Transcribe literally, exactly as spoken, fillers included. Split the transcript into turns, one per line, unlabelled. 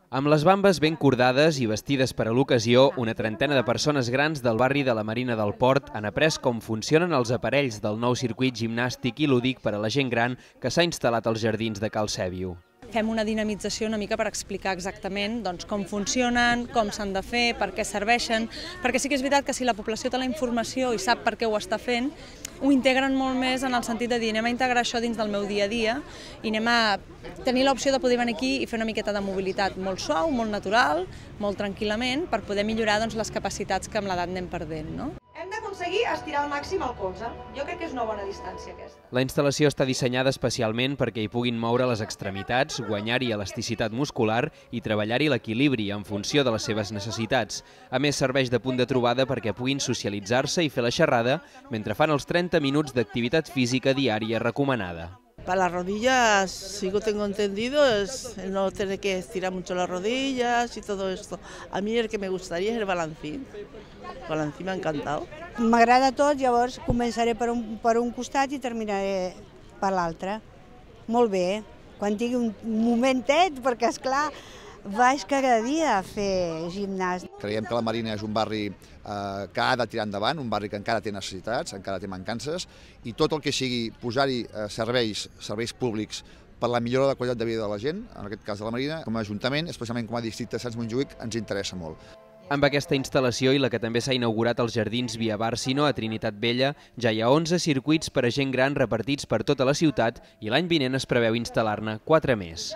Amb les bambes ben cordades i vestides per a l'ocasió, una trentena de persones grans del barri de la Marina del Port han après com funcionen els aparells del nou circuit gimnàstic i lúdic per a la gent gran que s'ha instal·lat als jardins de Cal Sèbio.
Fem una dinamització una mica per explicar exactament doncs, com funcionen, com s'han de fer, per què serveixen, perquè sí que és veritat que si la població té la informació i sap per què ho està fent, ho integren molt més en el sentit de dir anem a integrar això dins del meu dia a dia i anem a tenir l'opció de poder venir aquí i fer una miqueta de mobilitat molt suau, molt natural, molt tranquil·lament, per poder millorar doncs, les capacitats que amb l'edat anem perdent. No?
Hem d'aconseguir estirar al màxim el colze. Jo crec que és una bona distància aquesta.
La instal·lació està dissenyada especialment perquè hi puguin moure les extremitats, guanyar-hi elasticitat muscular i treballar-hi l'equilibri en funció de les seves necessitats. A més, serveix de punt de trobada perquè puguin socialitzar-se i fer la xerrada mentre fan els trenta minuts d'activitat física diària recomanada.
Para las rodillas, si lo tengo entendido, es no tener que estirar mucho las rodillas y todo esto. A mí el que me gustaría es el balancín. El balancín m'ha encantat.
M'agrada tot, llavors començaré per un, per un costat i terminaré per l'altre. Molt bé, quan tingui un momentet, perquè esclar, vaig cada dia a fer gimnàs.
Creiem que la Marina és un barri eh, que ha de tirar endavant, un barri que encara té necessitats, encara té mancances, i tot el que sigui posar-hi eh, serveis, serveis públics per la millora de la qualitat de vida de la gent, en aquest cas de la Marina, com a Ajuntament, especialment com a districte de Sants Montjuïc, ens interessa molt.
Amb aquesta instal·lació i la que també s'ha inaugurat als jardins Via Bàrcino a Trinitat Vella, ja hi ha onze circuits per a gent gran repartits per tota la ciutat i l'any vinent es preveu instal·lar-ne quatre més.